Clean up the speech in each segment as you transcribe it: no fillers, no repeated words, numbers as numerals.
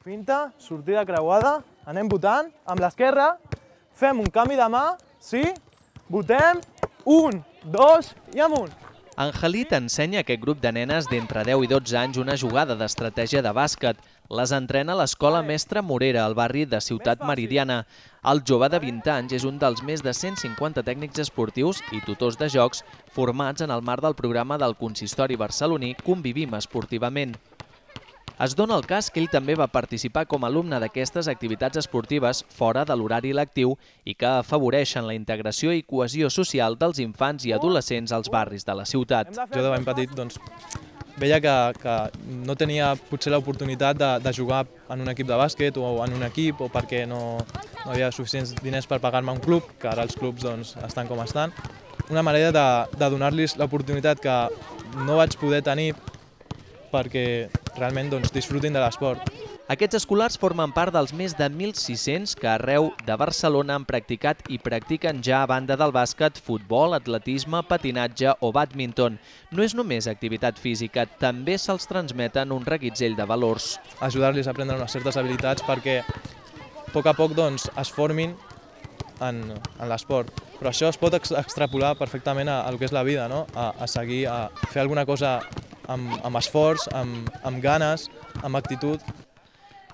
Finta, sortida creuada, anem votant, amb l'esquerra, fem un canvi de mà, sí, votem, 1, 2 i amunt. Angelit ensenya a aquest grup de nenes d'entre 10 i 12 anys una jugada d'estratègia de bàsquet. Les entrena a l'Escola Mestre Morera, al barri de Ciutat Meridiana. El jove de 20 anys és un dels més de 150 tècnics esportius i tutors de jocs formats en el marc del programa del consistori barceloní Convivim esportivament. Es dona el cas que ell també va participar com a alumne d'aquestes activitats esportives fora de l'horari lectiu i que afavoreixen la integració i cohesió social dels infants i adolescents als barris de la ciutat. Jo de ben petit veia que no tenia potser l'oportunitat de jugar en un equip de bàsquet o en un equip o perquè no havia suficients diners per pagar-me un club, que ara els clubs estan com estan. Una manera de donar-los l'oportunitat que no vaig poder tenir perquè realment disfrutin de l'esport. Aquests escolars formen part dels més de 1.600 que arreu de Barcelona han practicat i practiquen ja a banda del bàsquet, futbol, atletisme, patinatge o bàdminton. No és només activitat física, també se'ls transmeten un reguitzell de valors. Ajudar-los a aprendre unes certes habilitats perquè a poc es formin en l'esport. Però això es pot extrapolar perfectament al que és la vida, a seguir, a fer alguna cosa amb esforç, amb ganes, amb actitud.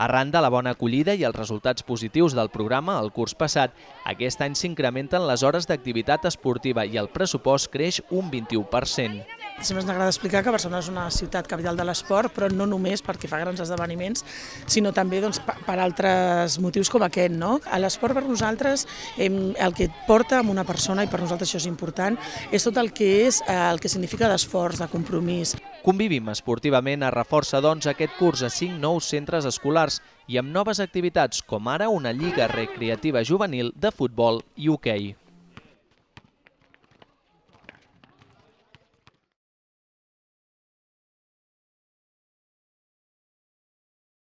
Arran de la bona acollida i els resultats positius del programa el curs passat, aquest any s'incrementen les hores d'activitat esportiva i el pressupost creix un 21%. Sempre ens agrada explicar que Barcelona és una ciutat capital de l'esport, però no només perquè fa grans esdeveniments, sinó també per altres motius com aquest. L'esport per nosaltres, el que porta a una persona, i per nosaltres això és important, és tot el que significa d'esforç, de compromís. Convivim esportivament es reforça aquest curs a 5 nous centres escolars i amb noves activitats com ara una lliga recreativa juvenil de futbol i hoquei.